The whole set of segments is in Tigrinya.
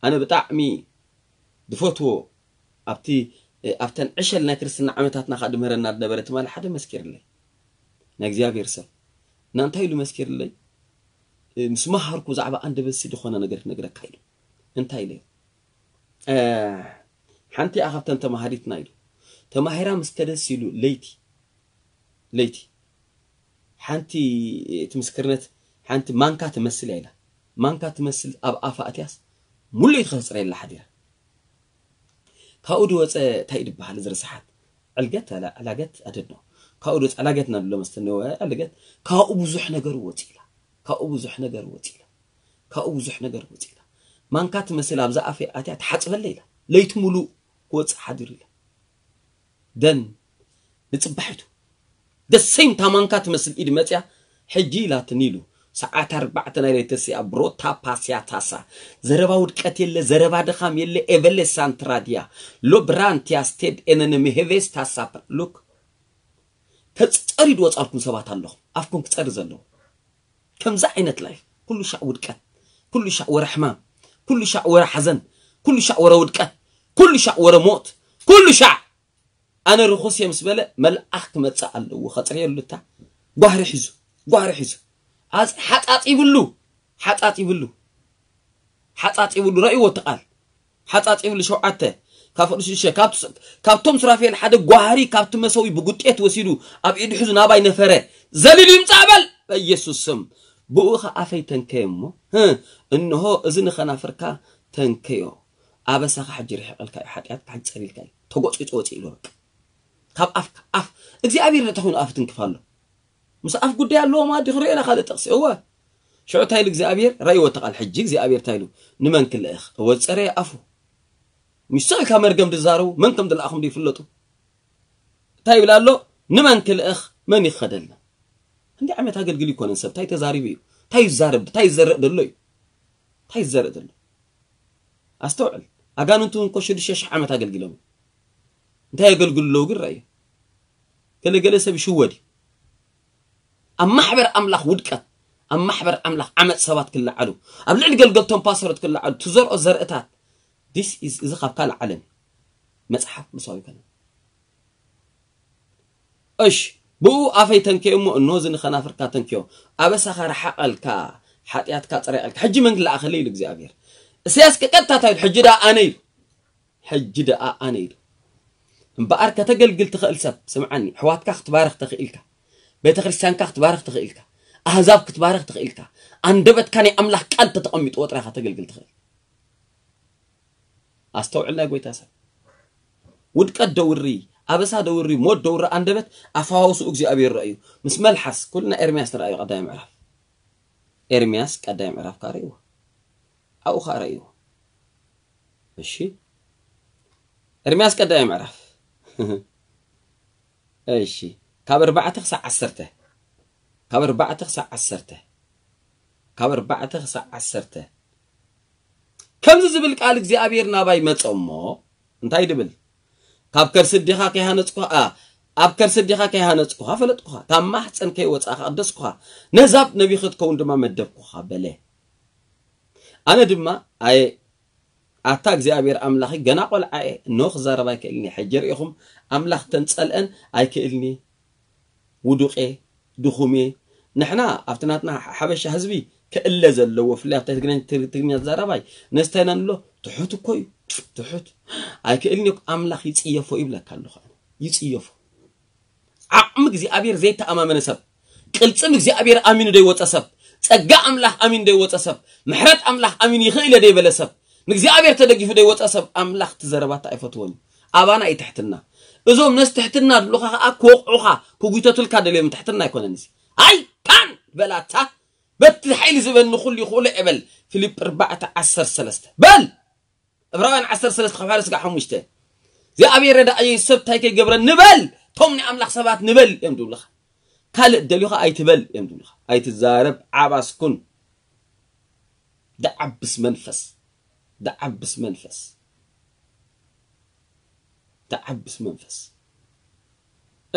ኣነ ብጣዕሚ ዝፈትዎ ኣብቲ ኣብተን ዕሸል ናይ ክርስትና ዓመታትና ከዓ ድምህረና ዝነበረ ትማሊ ሓደ መስኪርለይ። ናይ እግዚኣብሔር ሰብ እና እንታይ ኢሉ መስኪርለይ? ምስ መሃርኩ ብዛዕባ ኣንደበትሲ ዝኾነ ነገር ክነግረካ ኢሉ። እንታይ ኢለ? ሓንቲ እያ ካብተን ተማሃሪትና ኢሉ። ተማሂራ ምስ ከደስ ኢሉ ለይቲ ለይቲ ሓንቲ እቲ ምስክርነት ሓንቲ ማንካ ትመስል እያ ኢላ። ማንካ ትመስል ኣብ ኣፋ ኣትያስ ሙሉእ ትኸፅረ የላ ሓዲራ። ካብኡ ድወፀ እንታይ ድበሃል እዚ ርስሓት ዕልገት ኣላ ዕላገት ኣደድኖ ካብኡ ድወፀ ዕላገት ናብሎ መስተነወ ዕልገት ካብኡ ብዙሕ ነገር ወፂ ኢላ። ካብኡ ብዙሕ ነገር ወፂ ኢላ። ካብኡ ብዙሕ ነገር ወፂ ኢላ። ማንካ ትመስል ኣብዛ ኣፈ ኣትያ ትሓፅበለ ኢላ። ለይቲ ሙሉእ ክወፅእ ሓዲሩ ኢላ። ደን ንፅባሒቱ ደሰይም ታማንካ ትመስል ኢድ መፅያ ሕጂ ኢላትኒ ኢሉ ሰዓት ኣርባዕተ ናይ ለይቲ ሲኣ ብሮታ ፓስያ ታሳ ዘረባ ውድቀት የለ ዘረባ ድኻም የለ ኤቨሌ ሳንትራዲያ ሎ ብራንቲያ ስቴድ ኤነነ ምሄቬስ ታሳ ሉክ ተፀሪ ድወፃልኩም ሰባት ኣለኹም ኣፍኩም ክፀሪ ዘለዎ ከምዚ ዓይነት ላይፍ ኩሉ ሻዕ ውድቀት ኩሉ ሻዕ ወረ ሕማም ኩሉ ሻዕ ወረ ሓዘን ኩሉ ሻዕ ወረ ውድቀት ኩሉ ሻዕ ወረ ሞት ኩሉ ሻዕ ኣነ ርኹስ እየ ምስ በለ መልኣኽ ክመፅእ ኣለዎ ከፅርየሉ እታ ጓህሪ ሒዙ ጓህሪ ሒዙ ኣፅ- ሓፃፂብሉ ሓፃፂብሉ ሓፃፂብሉ ረእይዎ እቲ ቃል ሓፃፂብሉ ሸውዓተ ካብ ፍቅዱስ ሽዱሽተ ካብ- ካብቶም ሱራፌል ሓደ ጓህሪ ካብቲ መሰዊ ብጉጤት ወሲዱ ኣብ ኢዱ ሒዙ ናባይ ነፈረ ዘሊሉ ይምፃእ በል በኢየሱስ ስም ብኡ ኸዓ ኣፈይ ተንከየ እሞ ህ እንሆ እዚ ንኸናፍርካ ተንከዮ ኣበሳኻ ሕጂ ርሒቐልካ እዩ ሓጢኣትካ ሕጂ ፀሪልካ እዩ ተጎፂፁ ወፂ ኢሉ በቃ ካብ ኣፍካ ኣፍ እግዚኣብሔር ዶ ተኾይኑ ኣፍ ትንክፍ ኣሎ ምስ ኣፍ ጉዳይ ኣለዎ ማለት ድዩ ክርእየና ካልእ ጥቕሲ እወ ሽዑ እንታይ ኢሉ እግዚኣብሔር ራእይዎ ተቓል ሕጂ እግዚኣብሔር እንታይ ኢሉ ንመን ክልእኽ እወ ዝፀረየ ኣፉ ምስ ኢልካ መርገም ድዛረቡ መን ከም ዝለኣኹም ድይፍለጡ እንታይ ይብል ኣሎ ንመን ክልእኽ መን ይኸደልና እንዲ ዓመት ኣገልግል ይኮነን ሰብ እንታይ ተዛሪቡ እዩ እንታይ ይዛረብ እንታይ ይዘረእ ደሎ እዩ እንታይ ይዘረእ ደሎ ኣስተውዕል ኣጋንንቱ እንኮ ሽዱሽተ ሽሕ ዓመት ኣገልጊሎም እንታይ የገልግሉ ኣለዉ ግን ረእዩ ገለገለ ሰብ ይሽወድ እዩ ኣብ ማሕበር ኣምላኽ ውድቀት ኣብ ማሕበር ኣምላኽ ዓመፅ ሰባት ክለዓሉ ኣብ ልዕሊ ገልገልቶም ፓስተሮት ክለዓሉ ትዘርኦ ዘርእታት this is እዚ ካብ ካልእ ዓለም እዩ መፅሓፍ ቅዱሳዊ ይኮነ እሽ ብኡ ኣፈይ ተንከዮ እሞ እንሆ እዚ ንኸናፍርካ ተንከዮ ኣበሳኻ ረሓቐልካ ሓጢኣትካ ፅረቀልካ ሕጂ መን ክለኣኸለ ኢሉ እግዚኣብሔር እስያስ ቀጥታ እንታይ ኢሉ ሕጂ ደኣ ኣነ ኢሉ ሕጂ ደኣ ኣነ ኢሉ እምበኣር ከተገልግል ትኽእል ሰብ ስምዓኒ ኣሕዋትካ ክትባርኽ ተኽኢልካ ቤተ ክርስቲያንካ ክትባርኽ ተኽኢልካ ኣህዛብ ክትባርኽ ተኽኢልካ ኣንደበትካ ናይ ኣምላኽ ቃል ተተቐሚጥዎ ጥራኻ ተገልግል ትኽእል ኣስተውዕል ናይ ጎይታ ሰብ ውድቀት ደውሪ ኣበሳ ደውሪ ሞት ደውሪ ኣንደበት ኣፋዋውስኡ እግዚኣብሔር ረእዩ ምስ መልሓስ ኩልና ኤርምያስ ንረኣዩ ቀዳይ ምዕራፍ ኤርምያስ ቀዳይ ምዕራፍ ካረእይዎ ኣብኡ ከዓ ረእይዎ እሺ ኤርምያስ ቀዳይ ምዕራፍ እሺ ካብ ኣርባዕተ ክሳዕ ዓሰርተ ካብ ኣርባዕተ ክሳዕ ዓሰርተ ካብ ኣርባዕተ ክሳዕ ዓሰርተ ከምዚ ዝብል ቃል እግዚኣብሔር ናባይ መጸ እሞ እንታይ ድብል ካብ ከርሲ ኣዴኻ ከይሃነጽኩኻ ኣብ ከርሲ ኣዴኻ ከይሃነጽኩኻ ፈለጥኩኻ ካብ ማሕፀን ከይወጻኻ ቀደስኩኻ ነዛብ ነቢ ክትከውን ድማ መደብኩኻ በለ ኣነ ድማ ኣየ ኣታ እግዚኣብሔር ኣምላኺ ገና ቆልዓ እየ እነሆ ክዛረብ ኣይክእልን እየ ሕጂ ርኢኹም ኣምላኽ ተንጸልአን ኣይክእልን እየ ውዱቕ እየ ድኹም እየ ንሕና ኣብቲ ናትና ሓበሻ ህዝቢ ክእለ ዘለዎ ፍላይ ኣብታ ትግርኛ ትግርኛ ተዛራባይ ነስታይ ኢና ንብሎ ትሑት እኮ እዩ ትሑት ኣይክእልን እየ ኣምላኽ ይጽየፎ ይብለካ ኣለኹ ይጽየፎ ዓቕሚ እግዚኣብሔር ዘይተኣማመነ ሰብ ቅልጽም እግዚኣብሔር ኣሚኑ ዘይወፀ ሰብ ጸጋ ኣምላኽ ኣሚኑ ዘይወፀ ሰብ ምሕረት ኣምላኽ ኣሚኑ ይኽእል እየ ዘይበለ ሰብ ንእግዚኣብሔር ተደጊፉ ዘይወፀ ሰብ ኣምላኽ ትዘረባታ ኣይፈትዎን እዩ ኣባና እዩ ትሕትና እዞም ነዚ ትሕትና ድሉኻ ከዓ ክወቕዑኻ ክጉተቱልካ ደልዮም ትሕትና ኣይኮነን እዚ ኣይታን በላታ በቲ ሓይሊ ዝበኒ ኩሉ ይኽእሎ እየ በል ፊልጵ ኣርባዕተ ዓሰርተ ሰለስተ በል ዕብራውያን ዓሰርተ ሰለስተ ካብ ሓደ ስጋዕ ሓሙሽተ እግዚኣብሔር ረዳእየይ ሰብ እንታይ ከይገብረ ንበል ቶም ናይ ኣምላኽ ሰባት ንበል እዮም ዝብሉኻ ካልእ ደልዩኻ ኣይትበል እዮም ዝብሉኻ ኣይትዛረብ ዓባስኩን ደዓብስ መንፈስ ደዓብስ መንፈስ ደዓብስ መንፈስ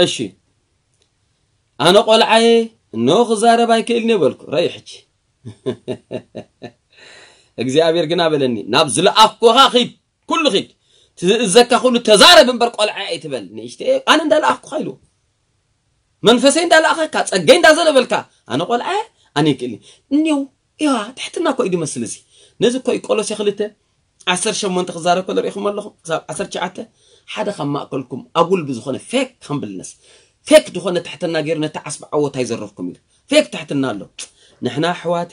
እሺ ኣነ ቆልዓየ እነሆ ክዛረብ ኣይክእልን እየ በልኩ ረይ ሕጂ እግዚኣብሔር ግና በለኒ፣ ናብ ዝለኣኩኻ ኺድ፣ ኩሉ ኺድ፣ ትእዘካ ኩሉ ተዛረብ እምበር ቆልዓ ኣይትበል። ንእሽተ ኣነ እንዳለኣኩኻ ኢሉ መንፈሰይ እንዳለኣኸካ ጸገይ እንዳዘነበልካ ኣነ ቆልዓ ኣነ ይክእል እኒው እያ ትሕትና እኮ እዩ ዝመስል። እዚ ነዚ እኮ እዩ ቆሎሴ ክልተ ዓሰርተ ሸሞንተ ክዛረብ ከሎ ርኢኹም ኣለኹም። ክሳብ ዓሰርተ ትሽዓተ ሓደ ካብ ማእከልኩም ኣጉል ብዝኾነ ፌክ ሃምብልነስ፣ ፌክ ዝኾነ ትሕትና ገይሩ ነቲ ዓስቢ ዓወት ኣይዘረፍኩም ኢሉ ፌክ ትሕትና ኣሎ። ንሕና ኣሕዋቴ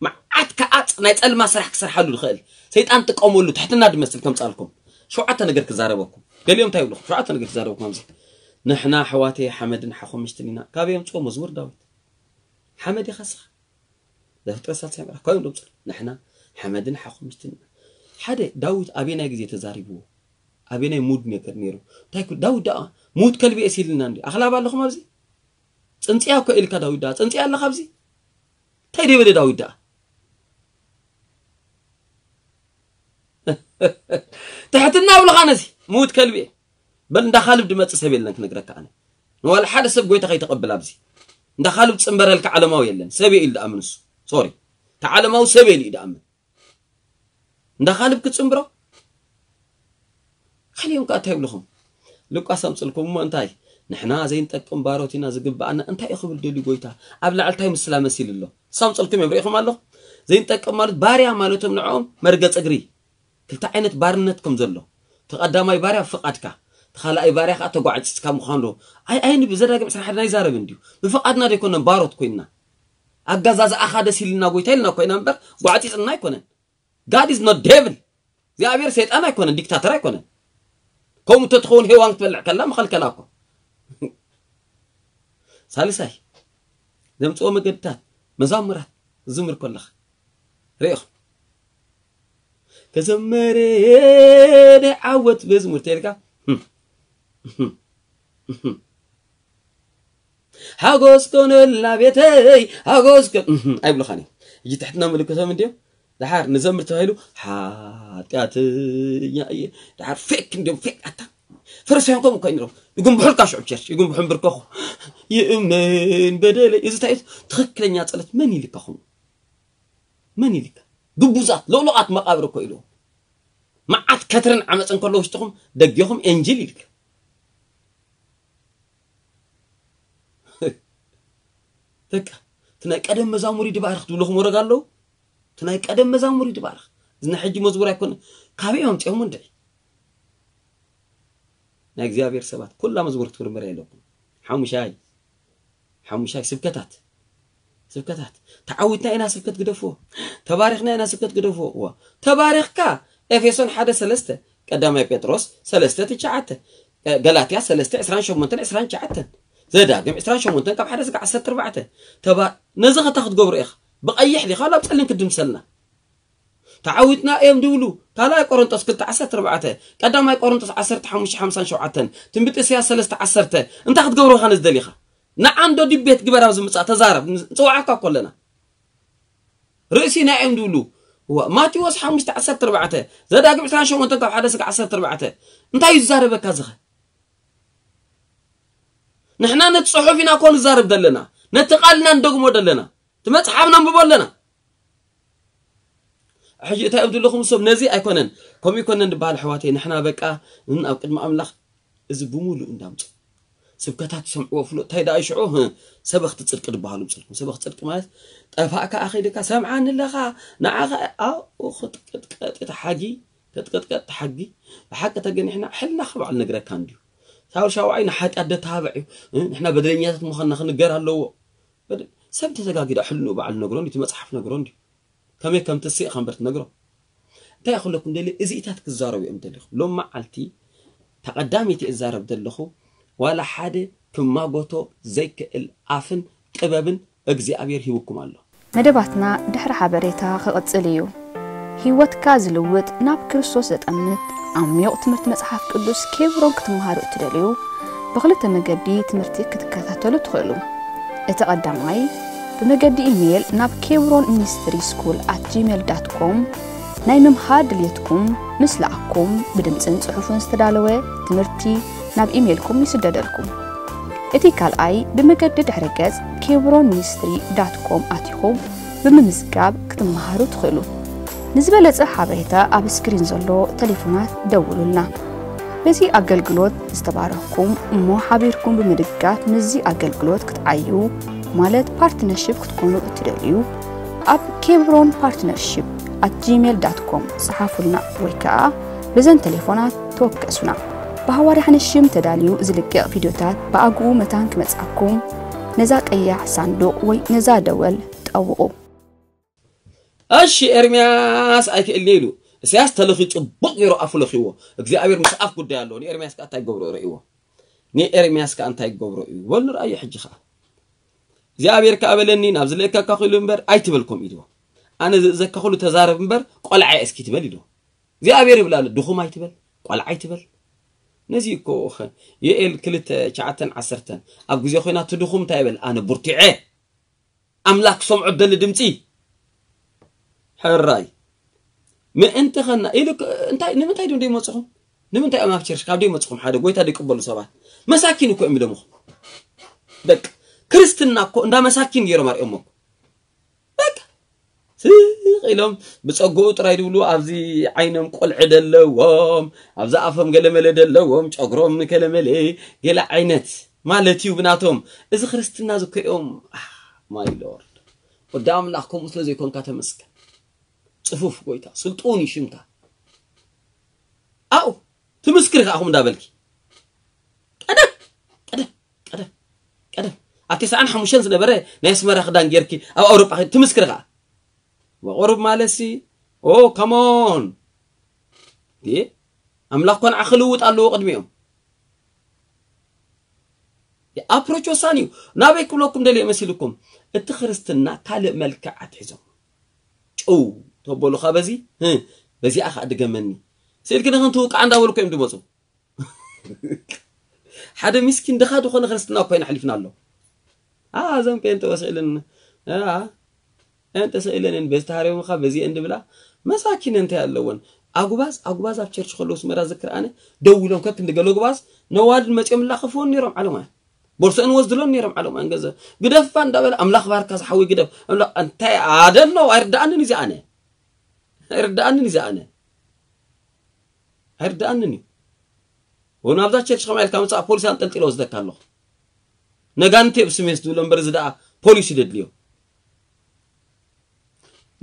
መዓት ከኣ ናይ ጸልማ ስራሕ ክሰርሓሉ ዝኽእል ሰይጣን ጥቀመሉ ትሕትና ድመስል ከምጻልኩም ሸውዓተ ነገር ክዛረበኩም። ገሊኦም እንታይ ይብልኹም? ሸውዓተ ነገር ክዛረበኩም ኣብዚ። ንሕና ኣሕዋቴ ሓመድን ሓኹምሽትን ኢና። ካበይ የምጽኦ መዝሙር ዳዊት? ሓመድ ኢኻ ስኻ። ዘፍጥረት ሳልሳይ ምዕራፍ ካብ እዮም ደምጽሉ። ንሕና ሓመድን ሓኹምሽትን ኢና። ሓደ ዳዊት ኣበናይ ግዜ ተዛሪብዎ? ኣበናይ ሙድ ነገር ነይሩ? እንታይ ኩ-፣ ዳዊት ደኣ ሙት ከልቢ እየ ሲልና እንዲ ኣኽላብ ኣለኹም ኣብዚ? ጽንጽያ እኮ ኢልካ ዳዊት ደኣ፣ ጽንጽያ ኣለኻ ኣብዚ? እንታይ ደይበለ ዳዊት ደኣ? ትሕትና ኣብልኻ ነዚ ሙት ከልቢ እየ። በል እንዳ ካልብ ድመጽእ ሰብ የለን ክነግረካ ኣነ። ንዋላ ሓደ ሰብ ጎይታ ከይተቐብል ኣብዚ። እንዳ ካልብ ጽንበረልካ ዓለማዊ የለን። ሰብ እየ ኢሉ ደኣምን እሱ። ሶሪ። እቲ ዓለማዊ ሰብ እየ ኢሉ እዩ ደኣምን። እንዳ ካልብ ክጽንብሮ? ካልዮም ከኣ እንታይ ይብልኹም? ሉቃስ ኣምጽልኩም እሞ እንታይ? ንሕና ዘይንጠቅም ባሮት ኢና ዝግብኣና እንታይ እዩ ክብል ደልዩ ጎይታ? ኣብ ላዕሊ እንታይ ምስላ መሲሉ ኣሎ? ሳምጽልኩም እዮም ርኢኹም ኣለኹም? ዘይንጠቅም ማለት ባርያ ማለቶም ንዕኦም መርገጽ እግሪ። ክልተ ዓይነት ባርነት ከም ዘሎ። እቲ ቀዳማይ ባርያ ብፍቓድካ፣ እቲ ካልኣይ ባርያ ከኣ ተጓዕጺጽካ ምዃኑ። ኣይ፣ ኣይን ብዘዳግም ዕስራን ሓደን ኣይዛረብን ድዩ? ብፍቓድና ደይኮነን ባሮት ኮይንና። ኣገዛዝኣኻ ደስ ኢልና ጎይታ ኢልና ኮይና እምበር ጓዕጺጽና ኣይኮነን። God is not devil። እግዚኣብሔር ሰይጣን ኣይኮነን፣ ዲክታተር ኣይኮነን። ከምኡ እንተትኸውን ሄዋን ክትበልዕ ከላ መኸልከላ እኮ። ሳልሳይ፣ ዘምጽኦ መገድታት፣ መዛሙራት ዝምር ከለኻ ርኢኹም። ከዘመረ ናይ ዓወት መዝሙር ተልካ፣ ሓጎስ ኮነልና ቤተይ፣ ሓጎስ ኮን-፣ እህ፣ ኣይብልኻን እዮም። ሕጂ ትሕትና ምልክቶም እንድዮም። ደሓር ንዘምር ተባሂሉ፣ ሓጢኣተኛ እየ። ደሓር ፌክ እንድዮም፣ ፌክ ኣታ። ፈሪሳውያን ከምኡ እኮ እዮም ነይሮም። ይጉንብሑልካ ሽዑ ቸርች፣ ይጉንብሑ እምብርከኹ። ይእመን በደለይ። እዚ እንታይ እዩ? ትኽክለኛ ጸሎት መን ይልካ ኹም? መን ይልካ? ግቡዛት፣ ሎሎቓት መቓብር እኮ ኢሉ። መዓት ከትርን ዓመፅን ከሎ ውሽጥኹም ደጊኹም ኤንጅል ይልካ። በቃ፣ እቲ ናይ ቀደም መዛሙር ይድባርኽ ትብልኹም ወረግ ኣለዉ። እቲ ናይ ቀደም መዛሙር ይድባርኽ። እዚ ናይ ሕጂ መዝሙር ኣይኮነ። ካበይ ኣምፂኦም እንድዒ? ናይ እግዚኣብሔር ሰባት፣ ኩላ መዝሙር ክትምርምር የለኩም። ሓሙሻይ፣ ሓሙሻይ ስብከታት። ስብከታት። ተዓዊትና ኢና ስብከት ግደፍዎ። ተባሪኽና ኢና ስብከት ግደፍዎ። እዋ። ተባሪኽካ ኤፌሶን ሓደ ሰለስተ፣ ቀዳማይ ጴጥሮስ ሰለስተ ትሽዓተ፣ ገላትያ ሰለስተ ዕስራን ሸሞንተን ዕስራን ትሽዓተን፣ ዘዳግም ዕስራን ሸሞንተን ካብ ሓደ ስጋ ዓሰርተ ኣርባዕተ። ተባ-፣ ነዚ ኸታ ክትገብሮ ኢኻ። ብቐይሕ ዲኻ ናብ ጸሊም ክትድምሰልና። ተዓዊትና እዮም ድብሉ። ካልኣይ ቆሮንጦስ ክልተ ዓሰርተ ኣርባዕተ፣ ቀዳማይ ቆሮንጦስ ዓሰርተ ሓሙሽተ ሓምሳን ሸውዓተን፣ ትንቢት ኢሳያስ ሰለስተ ዓሰርተ። እንታይ ክትገብሩ ኢኻ ነዚ ደሊኻ? ንዓንዶ ዲቤት ግበር ኣብዚ ምጻእ ተዛረብ። ንጽውዓካ እኮ ኣለና። ርእሲና እዮም ድብሉ። እዋ፣ ማቴዎስ ሓሙሽተ ዓሰርተ ኣርባዕተ፣ ዘዳግም ዕስራን ሸሞንተን ካብ ሓደ ስጋ ዓሰርተ ኣርባዕተ። እንታይ እዩ ዝዛረበካ ዝኸ? ንሕና ነቲ ጽሑፍ ኢና እኮ ንዛረብ ዘለና። ነቲ ቃል ኢና ንደግሞ ዘለና። እቲ መጽሓፍ ነንብቦ ኣለና። ሕጂ እንታይ እዮም ዘለኹም ሰብ ነዚ ኣይኮነን። ከምኡ ይኮነን ዝበሃል ኣሕዋተይ። ንሕና በቃ ን-፣ ኣብ ቅድሚ ኣምላኽ እዚ ብምሉእ እንዳምጽእ ስብከታት ትሰምዕዎ ፍሉጥ። እንታይ ደኣ ሽዑ? ህእ፣ ሰበኽቲ ጽድቂ ዝበሃሉ ምጽልኩም። ሰበኽቲ ጽድቂ ማለት ጠፋእካ ኣኺልካ ሰምዓኒ ኣለኻ፣ ንዓኻ ኣብኡ ክትቅጥቀጥ እቲ ሓጊ፣ ክትቅጥቀጥ እቲ ሓጊ። ብሓቂ ተገኒሕና ሕልና ካብ ባዕሉ ነግረካ እንድዩ። ሳውል ሻውዓይ ንሓጢኣት ደተባብዕ እዩ። እ፣ ንሕና በደለኛታት ምዃንና ክንገር ኣለዎ። በደ-፣ ሰብ እንተተጋጊዳ ሕልንኡ ባዕሉ ነግሮ እንድዩ፣ እቲ መጽሓፍ ነግሮ እንድዩ። ከመይ ከም ትስእ ከም በር ትነግሮ። እንታይ ክብለኩም ደልየ፣ እዚኢታት ክዛረቡ እዮም ደሊኹም። ሎም መዓልቲ ተቐዳሚቲ እዛረብ ዘለኹ፣ ዋላ ሓደ ክማጎቶ ዘይክእል ኣፍን ጥበብን እግዚኣብሔር ሂብኩም ኣሎ። መደባትና ድሕሪ ሓበሬታ ክቕጽል እዩ። ህይወትካ ዝልውጥ፣ ናብ ክርስቶስ ዘጠምት ዓሚቕ ትምህርቲ መጽሓፍ ቅዱስ ኬብሮን ክትመሃሩ እትደልዩ፣ ብኽልተ መገዲ ትምህርቲ ክትከታተሉ ትኽእሉ። እቲ ቀዳማይ፣ ብመገዲ ኢሜይል ናብ ኬብሮን ሚኒስትሪ ስኩል ኣት ጂሜል ዳት ኮም ናይ ምምሃር ድልየትኩም ምስ ለኣኩም፣ ብድምጽን ጽሑፍን ዝተዳለወ ትምህርቲ ናብ ኢሜይልኩም ይስደደልኩም። እቲ ካልኣይ፣ ብመገዲ ድሕረ ገጽ ኬብሮን ሚኒስትሪ ዳት ኮም ኣቲኹም ብምምዝጋብ ክትመሃሩ ትኽእሉ። ንዝበለጸ ሓበሬታ ኣብ ስክሪን ዘሎ ቴሌፎናት ደውሉልና። በዚ ኣገልግሎት ዝተባረኽኩም እሞ ሓቢርኩም ብምድጋፍ ምስዚ ኣገልግሎት ክትዓዩ፣ ማለት ፓርትነርሺፕ ክትኮኑ እትደልዩ፣ ኣብ ኬብሮን ፓርትነርሺፕ ኣት ጂሜል ዳት ኮም ጸሓፉልና ወይ ከኣ በዘን ቴሌፎናት ተወከሱና። ብሃዋርያ ሓንሽም ተዳልዩ ዝልቀቕ ቪድዮታት ብኣግኡ መታን ክመጻኩም ነዛ ቀያሕ ሳንዱቕ ወይ ነዛ ደወል ጠውቑ። እሺ ኤርምያስ ኣይክእልኒ ኢሉ። ኢሳያስ ተለኺ ጽቡቕ ገይሩ ኣፉ ለኺዎ። እግዚኣብሔር ምስ ኣፍ ጉዳይ ኣለዎ። ንኤርምያስ ከኣ እንታይ ይገብሮ ረእይዎ። ንኤርምያስ ከኣ እንታይ ይገብሮ እዩ። በሉ ንርኣዮ ሕጂ ከኣ። እግዚኣብሔር ከኣ በለኒ ናብ ዝልእከካ ኹሉ እምበር ኣይትበል ከምኡ ኢልዎ። ኣነ ዝእዘካ ኹሉ ተዛረብ እምበር ቆልዓ እስኪ ትበል ኢልዎ። እግዚኣብሔር ይብላሉ ድኹም ኣይትበል ቆልዓ ኣይትበል። ነዚ እኮ ዮኤል ክልተ ትሽዓተን ዓሰርተን ኣብ ግዜ ኮይና ትድኹም እንታይ ይበል ኣነ ቡርቲዐ ኣምላክ ክሰምዖ ደሊ ድምፂ ሕራይ ምእንቲ ኸና ኢሉ እንታይ ንምንታይ ዶ ደይመፅኹም ንምንታይ እዮም ኣብ ቸርች ካብ ደይመፅኹም ሓደ ጎይታ ደይቅበሉ ሰባት መሳኪን እኮ እዮም ደምኹም በቃ ክርስትና እኮ እንዳ መሳኪን ገይሮም ኣርእዮም እኮ በቃ ስቕ ኢሎም ብፀግኡ ጥራይ ድብሉ ኣብዚ ዓይኖም ቆልዒ ደለዎም ኣብዚ ኣፎም ገለመለ ደለዎም ጨጉሮም ገለመለ ገለ ዓይነት ማለት እዩ ብናቶም እዚ ክርስትና ዝኮኦም my lord ወዲ ኣምላኽ ከምኡ ስለ ዘይኮንካ ተመስገን ፅፉፍ ጎይታ ስልጡን እዩ ሽምካ ኣው ትምስክሪ ከኣ ኹም እንዳበልኪ ቀደም ቀደም ቀደም ቀደም ኣብ ተስዓን ሓሙሽተን ዝነበረ ናይ ኣስመራ ክዳን ጌርኪ ኣብ ኣውሮጳ ትምስክሪ ከኣ ወቁሩብ ማለት ሲ ኦ come on ኣምላኽ ኮን ዓኺ ልውጥ ኣለዎ ቅድሚኦም ኣፕሮች ወሳኒ እዩ ናበይ ክብለኩም ደልየ መሲልኩም እቲ ክርስትና ካልእ መልክዕ ኣትሒዞም ጭው ተበሉኻ በዚ በዚኣ ከዓ ድገመኒ ስኢልኪ ንክን ትውቃዕ እንዳበልኩ እዮም ድመፁ ሓደ ሚስኪን ድኻ ዝኾነ ክርስትና እኮ ኢና ኣሕሊፍና ኣሎ እዘን ጴንጠ ወስኢልን ጴንጠ ስኢልን በዚ ተሃሪሙኻ በዚ እንድብላ መሳኪን እንታይ ኣለወን ኣጉባዝ ኣጉባዝ ኣብ ቸርች ከለዉ ስመራ ዝክር ኣነ ደው ኢሎም ከክንዲ ገለ ጉባዝ ነዋልድ መፅኦም ላኸፍዎን ነይሮም ዓለማውያን ቦርሶአን ወስድሎን ነይሮም ዓለማውያን ገንዘብ ግደፋ እንዳበለ ኣምላኽ ባርካ ዝሓወይ ግደፍ ኣምላኽ እንታይ ኣደኖ ኣይርዳኣንን እዚ ኣነ ኣይርዳኣንን እዚ ኣነ ኣይርዳኣንን እዩ ወን ኣብዛ ቸርች ከማ ኢልካ መፅኣ ፖሊስ ኣንጠልጢሎ ወስደካ ኣለኹ ነጋንቴ ብስሜስ ዝብሎ እምበር እዚ ደኣ ፖሊስ ይደድልዮ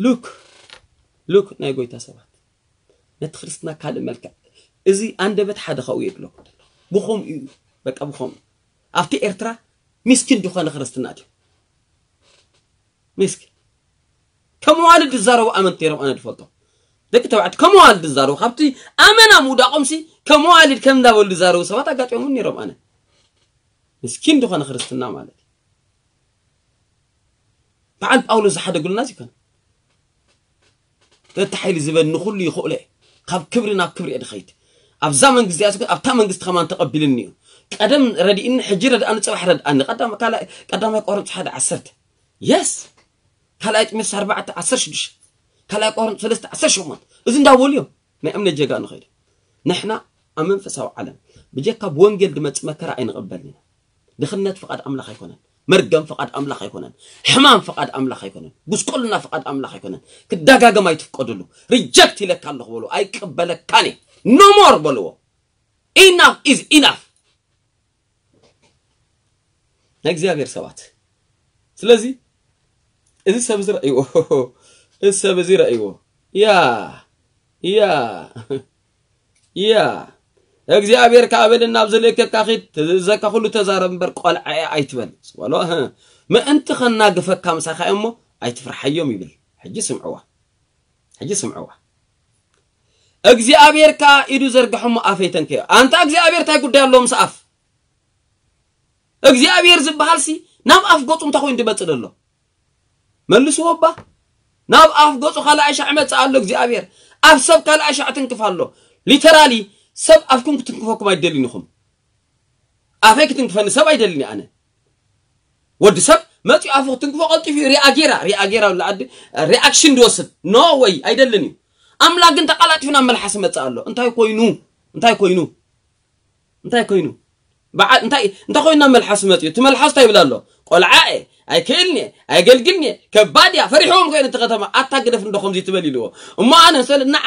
ሉክ ሉክ ናይ ጎይታ ሰባት ነቲ ክርስትና ካልእ መልክዕ እዚ ኣንደበት ሓደ ካብኡ የብለኩም ብኸምኡ እዩ በቃ ብኸምኡ ኣብቲ ኤርትራ ሚስኪን ዝኾነ ክርስትና ድዩ ሚስኪን ከም ዋልድ ዝዛረቡ ኣመንቲ ነይሮም ኣነ ድፈልጦም ደቂ ተባዕት ከም ዋልድ ዝዛረቡ ካብቲ ኣመና ምውዳቆም ሲ ከም ዋልድ ከም እንዳበሉ ዝዛረቡ ሰባት ኣጋጢሞም ነይሮም ኣነ ምስኪን ዝኾነ ክርስትና ማለት በዓል ጳውሎስ ዝሓደጉልና ዚኮነ ተቲ ሓይሊ ዝበኒ ኩሉ ይኽእሎ እየ ካብ ክብሪ ናብ ክብሪ እየ ድኸይድ ኣብዛ መንግስቲ እያ ዝኮን ኣብታ መንግስቲ ከማን ተቐቢልኒ እዩ ቀደም ረድእኒ ሕጂ ረድኣኒ ፅባሕ ረድኣኒ ቀዳማይ ቆሮንቶስ ሓደ ዓሰርተ የስ ካልኣይ ጢሞቴዎስ ኣርባዕተ ዓሰርተ ሽዱሽተ ካልኣይ ቆሮንቶስ ሰለስተ ዓሰርተ ሸሞንተ እዚ እንዳበሉ እዮም ናይ እምነት ጀጋ ንኸይድ ንሕና ኣብ መንፈሳዊ ዓለም ብጀካ ብወንጌል ድመፅ መከራ ኣይንቕበልን ኢና ድኽነት ፍቓድ ኣምላኽ ኣይኮነን መርገም ፍቓድ ኣምላኽ ኣይኮነን ሕማም ፍቓድ ኣምላኽ ኣይኮነን ጉስቁልና ፍቓድ ኣምላኽ ኣይኮነን ክደጋገም ኣይትፍቀድሉ ሪጀክት ኢለካ ኣለኹ በሉ ኣይቅበለካን እየ no more በልዎ enough is enough ናይ እግዚኣብሔር ሰባት ስለዚ እዚ ሰብ እዚ ረእይዎ እዚ ሰብ እዚ ረእይዎ ያ ያ ያ እግዚኣብሔር ከዓ በል ናብ ዝልእከካ ኺድ ትዝእዘካ ኩሉ ተዛረብ እምበር ቆልዓ እየ ኣይትበል ዝበሎ ምእንቲ ከናግፈካ ምሳኻ እሞ ኣይትፍርሓዮም ይብል ሕጂ ስምዕዋ ሕጂ ስምዕዋ እግዚኣብሔር ከዓ ኢዱ ዘርግሐ እሞ ኣፈይ ተንከዮ ኣንታ እግዚኣብሔር እንታይ ጉዳይ ኣለዎ ምስ ኣፍ እግዚኣብሔር ዝበሃል ሲ ናብ ኣፍ ገፁ እንታይ ኮይኑ ድመፅእ ዘሎ መልስዎ እባ ናብ ኣፍ ገፁ ካልኣይ ሻዕ መፅእ ኣሎ እግዚኣብሔር ኣብ ሰብ ካልኣይ ሻዕ ትንክፍ ኣሎ literally ሰብ ኣፍኩም ክትንክፈኩም ኣይደልን ኢኹም ኣፈይ ክትንክፈኒ ሰብ ኣይደልን ኣነ ወዲ ሰብ መፂኡ ኣፉ ክትንክፎ ቀልጢፉ ሪኣ ጌራ ሪኣ ጌራ ብላ ዓዲ ሪኣክሽን ድወስድ no way ኣይደልን እዩ ኣምላክ ግን ተቃላጢፉ ናብ መልሓስ መፅእ ኣሎ እንታይ ኮይኑ እንታይ ኮይኑ እንታይ ኮይኑ በዓል እንታይ እንታይ ኮይኑ ናብ መልሓስ መፅኡ እቲ መልሓስ እንታይ ይብል ኣሎ ቆልዓ እየ ኣይክእልንየ ኣይገልግልንየ ከባድ እያ ፈሪሕዎም ኮይነ እቲ ከተማ ኣታ ግደፍ እንዶ ከምዚ ትበል ኢልዎ እሞ ኣነ ሰለ ንዓ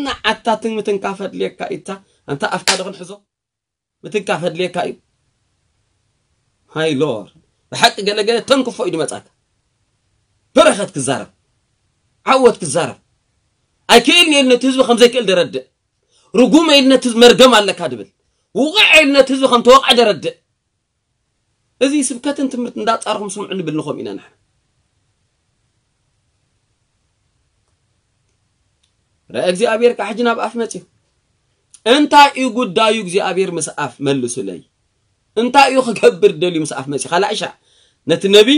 ንዓታ ትምትንካ ፈድልየካ ኢታ ኣንታ ኣፍካ ዶ ክንሕዞ ምትንካ ፈድልየካ እዩ ሃይ ሎር ብሓቂ ገለገለ ተንክፎ እዩ ድመጻካ በረኸት ክዛረብ ዓወት ክዛረብ ኣይክእልንየ ነቲ ህዝቢ ከም ዘይክእል ደረድእ ርጉም ኢል ነቲ ህዝቢ መርገም ኣለካ ድብል ውቕዕ ኢል ነቲ ህዝቢ ከም ተወቕዐ ደረድእ እዚ ስብከትን ትምህርቲ እንዳጻርኹም ስምዑ ንብል ንኾም ኢና ንሕና ረአ እግዚኣብሔር ከዓ ሕጂ ናብ ኣፍ መፅዩ እንታይ እዩ ጉዳዩ እግዚኣብሔር ምስ ኣፍ መልሱለይ እንታይ እዩ ክገብር ደልዩ ምስ ኣፍ መፅዩ ካልኣይ ሻዕ ነቲ ነቢ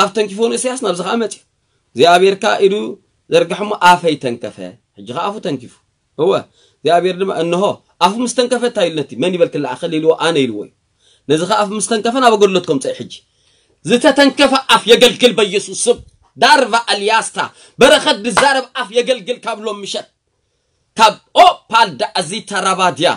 ኣፍ ተንኪፎ ንእስያስ ናብዚ ከዓ መፅዩ እግዚኣብሔር ከዓ ኢዱ ዘርግሐ እሞ ኣፈይ ተንከፈ ሕጂ ከዓ ኣፉ ተንኪፉ እወ እግዚኣብሔር ድማ እንሆ ኣፉ ምስ ተንከፈ እንታይ ኢሉ ነቲ መን ይበል ክለኣኸል ኢልዎ ኣነ ኢልዎ እዩ ነዚ ከዓ ኣፉ ምስ ተንከፈ ናብ ኣገልግሎት ከምፀ እዩ ሕጂ ዝተተንከፈ ኣፍ የገልግል በኢየሱስ ስም ዳርቫ ኣልያስታ በረኸት ድዛረብ ኣፍ የገልግል ካብ ሎም ምሸት ካብ ኦ ፓልዳ ኣዚታ ራባድያ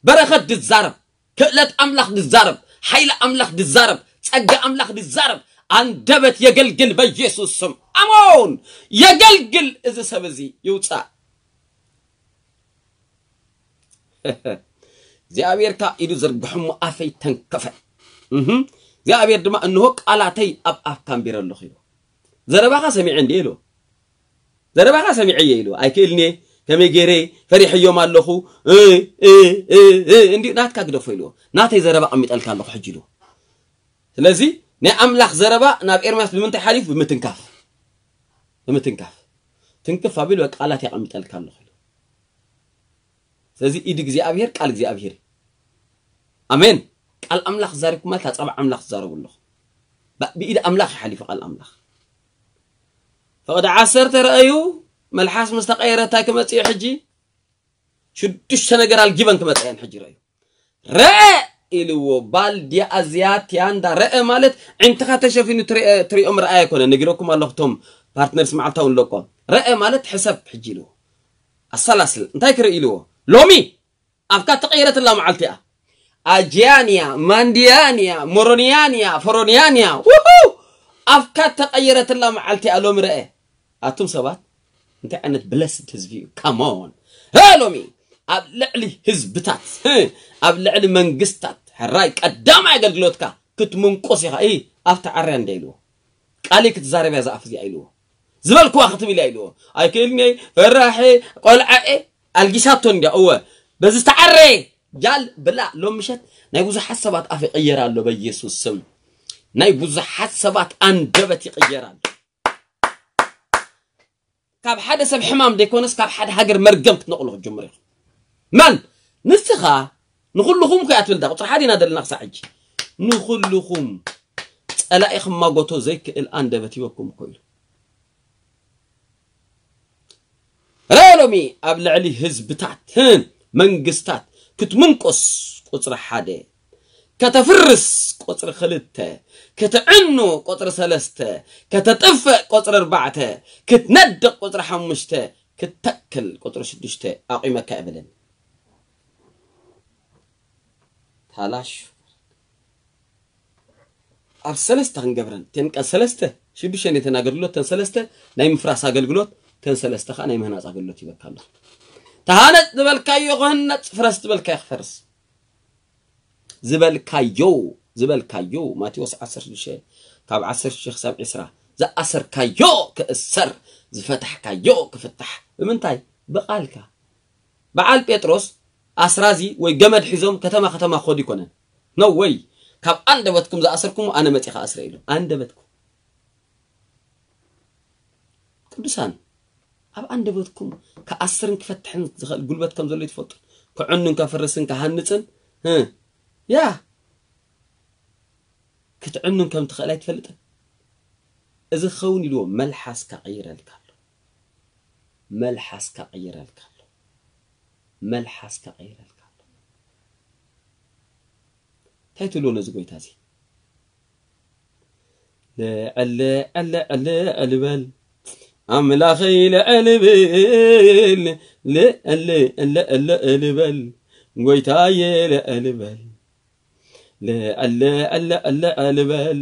በረኸት ድዛረብ ክእለት ኣምላኽ ድዛረብ ሓይሊ ኣምላኽ ድዛረብ ጸጋ ኣምላኽ ድዛረብ ኣንደበት የገልግል በኢየሱስ ስም ኣሞን የገልግል እዚ ሰብ እዚ ይውጻእ እግዚኣብሔር ከዓ ኢዱ ዘርግሖ እሞ ኣፈይ ተንከፈ እህም። እግዚኣብሔር ድማ እንሆ ቃላተይ ኣብ ኣፍካ ኣንቢረ ኣለኹ ኢሉ ዘረባኻ ሰሚዐ እንዲ ኢሉ ዘረባኻ ሰሚዐ እየ ኢሉ ኣይክእልኒ ከመይ ገይረ ፈሪሐዮም ኣለኹ እ፣ እ፣ እ፣ እ፣ እንዲ ናትካ ግደፎ ኢልዎ ናተይ ዘረባ ኣቐሚጠልካ ኣለኹ ሕጂ ኢልዎ ስለዚ ናይ ኣምላኽ ዘረባ ናብ ኤርምያስ ብምንታይ ሓሊፉ ብምትንካፍ ብምትንካፍ ትንክፍ ኣቢሉ በቃ ቃላት የቐሚጠልካ ኣለኹ ኢሉ ስለዚ ኢድ እግዚኣብሔር ቃል እግዚኣብሔር እዩ ኣሜን ቃል ኣምላኽ ዛሪብኩም ማለት ኣጸባ ኣምላኽ ትዛረቡ ኣለኹ ብኢድ ኣምላኽ ይሓሊፉ ቃል ኣምላኽ ፈቐዲ ዓሰርተ ረኣዩ መልሓስ ምስ ተቐየረ እንታይ ክመጽእ እዩ ሕጂ ሽዱሽተ ነገር ኣልጊበን ክመጽእ እየን ሕጂ ረኣዩ ረአ ኢልዎ ባልዲ ኣዝያ ቲያንዳ ረአ ማለት ዕንትኻ ተሸፊኑ ትሪኦ ምርኣይ ኣይኮነ ነጊረኩም ኣለኹ ቶም ፓርትነርስ መዓልታዊ ንለቆ ረአ ማለት ሕሰብ ሕጂ ኢልዎ ኣሰላስል እንታይ ክርኢ ኢልዎ ሎሚ ኣብካ ተቐይረትላ መዓልቲ እያ ኣጂያንያ ማንዲያንያ ሞሮንያንያ ፈሮንያንያ ውሁ ኣብካ ተቐየረትላ መዓልቲ እያ ሎሚ ረአ ኣቱም ሰባት እንታይ ዓይነት ብለስድ ህዝቢ እዩ ካሞን ሎሚ ኣብ ልዕሊ ህዝብታት ኣብ ልዕሊ መንግስታት ሕራይ ቀዳማይ ኣገልግሎትካ ክትምንቆስ ኢኻ እ ኣብቲ ዓርያ እንደ ኢልዎ ቃሊ ክትዛረብ እያ ዝኣፍ እዚኣ ኢልዎ ዝበልክዋ ክትብል እያ ኢልዎ ኣይክእልኒ ፈራሒ ቆልዓ እ ኣልጊሳቶ እንዲያ እወ በዚ ዝተዓረየ ጃል ብላ ሎም ምሸት ናይ ብዙሓት ሰባት ኣፍ ይቕየር ኣሎ በኢየሱስ ስም ናይ ብዙሓት ሰባት ኣንደበት ይቕየር ኣሎ ካብ ሓደ ሰብ ሕማም ዘይኮነስ ካብ ሓደ ሃገር መርገም ክትነቕሉ ክትጀምሩ ኢኹም መን ንስኻ ንኹልኹም ኮያ ትብል ዳ ቁፅሪ ሓደ ኢና ዘለና ክሳዕ ሕጂ ንኹልኹም ፀላኢ ክማጎቶ ዘይክእል ኣንደበት ሂበኩም እኮ ኢሉ ረአ ሎሚ ኣብ ልዕሊ ህዝብታትን መንግስታት ክትምንቁስ ቁፅሪ ሓደ ከተፍርስ ቁፅሪ ክልተ ክትዕኑ ቁፅሪ ሰለስተ ከተጥፍእ ቁፅሪ ኣርባዕተ ክትነድቕ ቁፅሪ ሓሙሽተ ክትተክል ቁፅሪ ሽዱሽተ ኣቑመካ እብልን ታላሽ ኣብ ሰለስተ ክንገብረን እተን ቀን ሰለስተ ሽዱሽተ ነተን ኣገልግሎት ተን ሰለስተ ናይ ምፍራስ ኣገልግሎት ተን ሰለስተ ከዓ ናይ ምህናፅ ኣገልግሎት ይበካ ኣሎ ተሃነፅ ዝበልካዮ ክህነፅ ፍረስ ዝበልካዮ ክፈርስ ዝበልካዮ ዝበልካዮ ማቴዎስ ዓሰርተ ሽዱሽተ ካብ ዓሰርተ ሽዱሽተ ክሳብ ዕስራ ዝኣሰርካዮ ክእሰር ዝፈታሕካዮ ክፍታሕ ብምንታይ ብቃልካ በዓል ጴጥሮስ ኣስራዚ ወይ ገመድ ሒዞም ከተማ ከተማ ክኸዱ ይኮነን no way ካብ ኣንደበትኩም ዝኣሰርኩሞ ኣነ መፂ ከኣስረ ኢሉ ኣንደበትኩም ቅዱሳን ኣብ ኣንደበትኩም ክኣስርን ክፈትሕን ዝኽእል ጉልበት ከም ዘሎ ትፈልጡ ክዕኑን ከፍርስን ክሃንፅን ያ ክትዕኑን ከም ትኽእል ኣይትፈልጥን እዚ ክኸውን ኢልዎ መልሓስካ ቀይረልካ ኣሎ መልሓስካ ቀይረልካ ኣሎ መልሓስካ ቀይረልካ ኣሎ እንታይ ትብሎ ነዚ ጎይታ እዚ ልዕል ልዕል ልዕል ልዕል በል ኣምላኸይ ልዕል ብል ልዕል ልዕል ልዕል በል ጎይታየ ልዕል በል ልዕል ልዕል ልዕል በል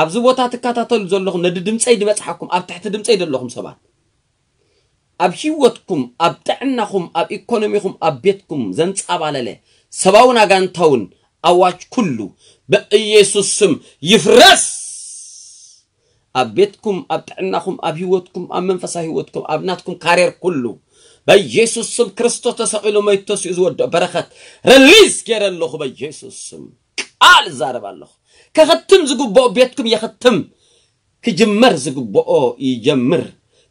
ኣብዚ ቦታ ትከታተሉ ዘለኹም፣ ነዲ ድምፀይ ዝበፅሓኩም፣ ኣብ ትሕቲ ድምፀይ ዘለኹም ሰባት፣ ኣብ ህይወትኩም፣ ኣብ ጥዕናኹም፣ ኣብ ኢኮኖሚኹም፣ ኣብ ቤትኩም ዘንፃባለለ ሰብኣውን ኣጋንንታውን ኣዋጅ ኩሉ ብኢየሱስ ስም ይፍረስ። ኣብ ቤትኩም፣ ኣብ ጥዕናኹም፣ ኣብ ህይወትኩም፣ ኣብ መንፈሳዊ ህይወትኩም፣ ኣብ ናትኩም ካሬር ኩሉ በኢየሱስ ስም፣ ክርስቶስ ተሰቒሉ መይቱ ተሲኡ ዝወድኦ በረኸት ሪሊዝ ገይረ ኣለኹ። በኢየሱስ ስም ቃል እዛረብ ኣለኹ። ከኸትም ዝግብኦ ቤትኩም የኸትም። ክጅመር ዝግብኦ ይጀምር።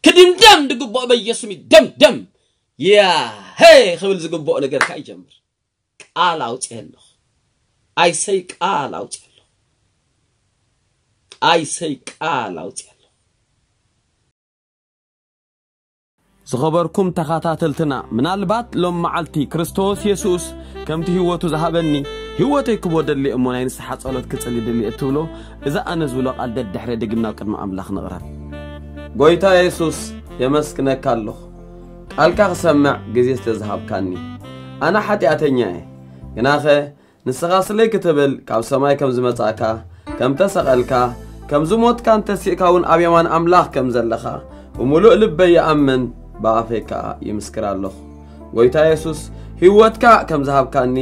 ክድምደም ዝግብኦ በኢየሱስ ይደምደም። ያሄ ክብል ዝግብኦ ነገር ከኣ ይጀምር። ቃል ኣውፅኤ ኣለኹ። ኣይሰይ ቃል ኣውፅኤ ኣለኹ። ኣይሰይ ቃል ኣውፅኤ ኣለኹ። ዝኸበርኩም ተኸታተልትና፣ ምናልባት ሎም መዓልቲ ክርስቶስ የሱስ ከምቲ ህይወቱ ዝሃበኒ ህይወተይ ክቦ ደሊ እሞ ናይ ንስሓ ጸሎት ክጽሊ ድሊ እትብሎ፣ እዚ ኣነ ዝብሎ ቃል ደድሕረ ድግምና ኣብ ቅድሚ ኣምላኽ ንቕረብ። ጎይታ የሱስ፣ የመስግነካ ኣለኹ፣ ቃልካ ክሰምዕ ግዜ ስለ ዝሃብካኒ። ኣነ ሓጢኣተኛ እየ፣ ግናኸ ንስኻ ስለይ ክትብል ካብ ሰማይ ከም ዝመጻእካ፣ ከም ተሰቐልካ፣ ከም ዝሞትካን ተሲእካ እውን ኣብ የማን ኣምላኽ ከም ዘለኻ ብምሉእ ልበይ ይኣምን፣ ብኣፈይ ከኣ ይምስክር ኣለኹ። ጎይታ የሱስ፣ ህይወትካ ከም ዝሃብካኒ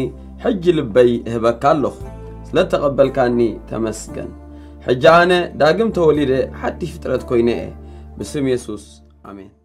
ሕጂ ልበይ እህበካ ኣለኹ። ስለ እተቐበልካኒ ተመስገን። ሕጂ ኣነ ዳግም ተወሊደ ሓድሽ ፍጥረት ኮይነ እየ። ብስም የሱስ፣ ኣሜን።